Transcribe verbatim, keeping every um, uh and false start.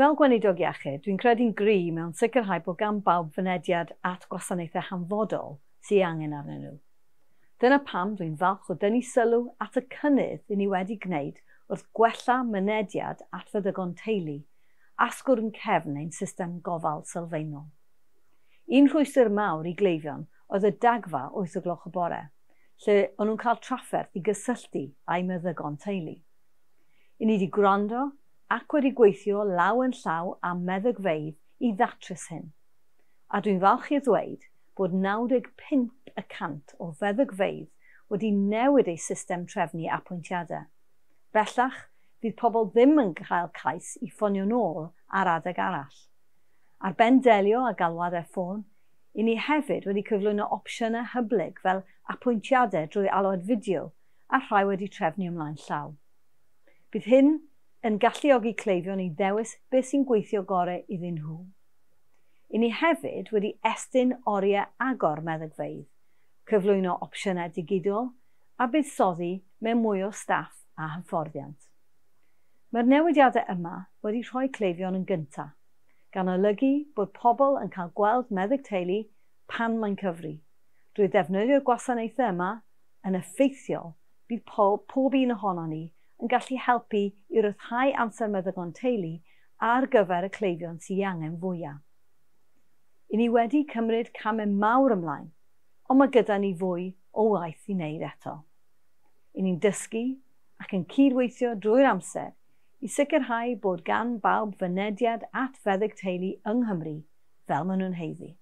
Fel Gweinidog Iechyd, dwi'n credu'n gry mewn sicrhau bod gan bawb fynediad at gwasanaethau hanfodol sydd angen arnyn nhw. Dyna pam dwi'n falch o dynnu sylw at y cynnydd i ni wedi gwneud wrth gwella mynediad at feddygon teulu, asgwrn cefn ein system gofal sylfaenol. Un rhwystr mawr i gleifion oedd y dagfa wyth o gloch y bore, lle o'n nhw'n cael trafferth i gysylltu â'u meddygon teulu. I ni wedi gwrando ac wedi gweithio law yn llaw â meddygfeydd i ddatrys hyn. A dwi'n falch i ddweud bod naw deg pump y cant o feddygfeydd wedi newid eu system trefnu apwyntiadau. Bellach, fydd pobl ddim yn cael cais i ffonio nôl ar adeg arall. Ar ben delio a galwadau ffôn, i ni hefyd wedi cyflwyno opsiynau hyblyg fel apwyntiadau drwy alwad fideo a rhai wedi trefnu ymlaen llaw. Bydd hyn yn galluogi cleifion i ddewis beth sy'n gweithio gorau iddyn nhw. I ni hefyd wedi estyn oriau agor meddygfeydd, cyflwyno opsiynau digidol a buddsoddi mewn mwy o staff a hyfforddiant. Mae'r newidiadau yma wedi rhoi cleifion yn gyntaf, gan olygu bod pobl yn cael gweld meddyg teulu pan mae'n cyfri. Drwy ddefnyddio'r gwasanaethau yma yn effeithiol, bydd pob, pob un ohonon ni yn gallu helpu i ryddhau amser meddygon teulu ar gyfer y cleifion sydd angen fwyaf. I ni wedi cymryd camau mawr ymlaen, ond mae gyda ni fwy o waith i wneud eto. I ni'n dysgu ac yn cydweithio drwy'r amser i sicrhau bod gan bawb fynediad at feddyg teulu yng Nghymru fel maen nhw'n haeddu.